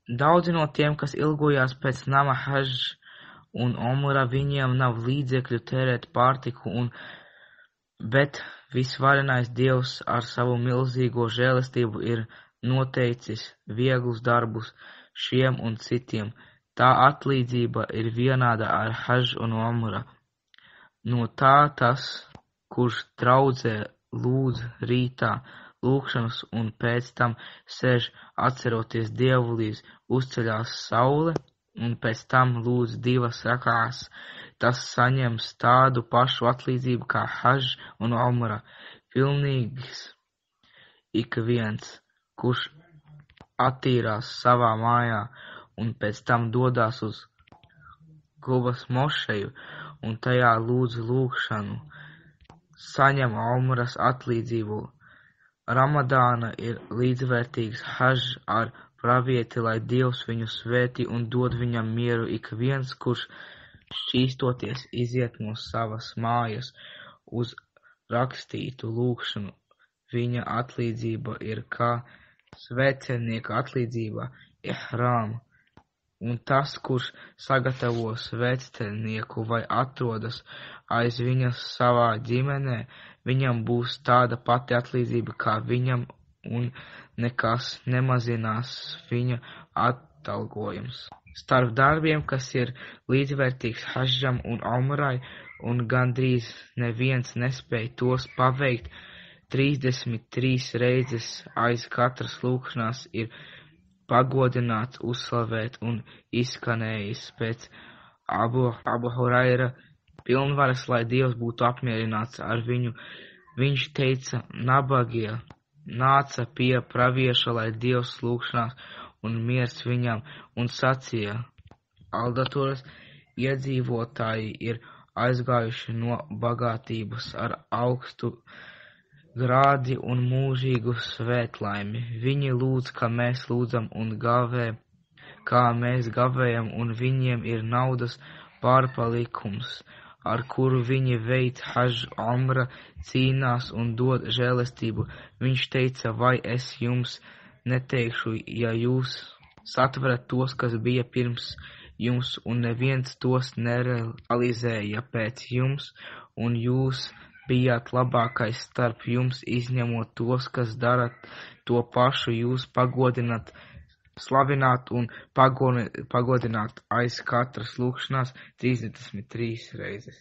Daudzi no tiem, kas ilgojās pēc nama Hadž un Omra, viņiem nav līdzekļu tērēt pārtiku, bet visvarenais Dievs ar savu milzīgo žēlastību ir noteicis vieglus darbus šiem un citiem. Tā atlīdzība ir vienāda ar Hadž un Omra. No tā tas, kurš draudzē lūdz rītā lūgšanas un pēc tam sēž atceroties Dievu, līdz uzceļās saule, un pēc tam lūdz 2 rakās, tas saņems tādu pašu atlīdzību kā Hadž un Omra. Pilnīgs ik viens, kurš attīrās savā mājā un pēc tam dodās uz Gubas mošeju un tajā lūdz lūgšanu, saņem Omras atlīdzību. Ramadāna ir līdzvērtīgs Hadž ar pravieti, lai Dievs viņu svētī un dod viņam mieru. Ik viens, kurš šķīstoties iziet no savas mājas uz rakstītu lūgšanu, viņa atlīdzība ir kā svētceļnieka atlīdzība ihrām. Un tas, kurš sagatavo svētceļnieku vai atrodas aiz viņa savā ģimenē, viņam būs tāda pati atlīdzība kā viņam, un nekas nemazinās viņa atalgojums. Starp darbiem, kas ir līdzvērtīgs Hadžam un Omrai, un gandrīz neviens nespēj tos paveikt, 33 reizes aiz katras lūgšanās ir pagodināts, uzslavēt un izskanējis pēc Abu Huraira pilnvaras, lai Dievs būtu apmierināts ar viņu. Viņš teica, nabagie nāca pie pravieša, lai Dievs lūgšanās un miers viņam, un sacīja, Aldatoras iedzīvotāji ir aizgājuši no bagātības ar augstu grādi un mūžīgu svētlaimi. Viņi lūdz, kā mēs lūdzam, un gavē, kā mēs gavējam, un viņiem ir naudas pārpalikums, ar kuru viņi veic Hadž. Omra cīnās un dod žēlastību. Viņš teica, vai es jums neteikšu, ja jūs satverat tos, kas bija pirms jums, un neviens tos nerealizēja pēc jums, un jūs bijāt labākais starp jums, izņemot tos, kas dara to pašu, jūs pagodināt, slavināt un pagodināt aiz katras lūgšanās 33 reizes.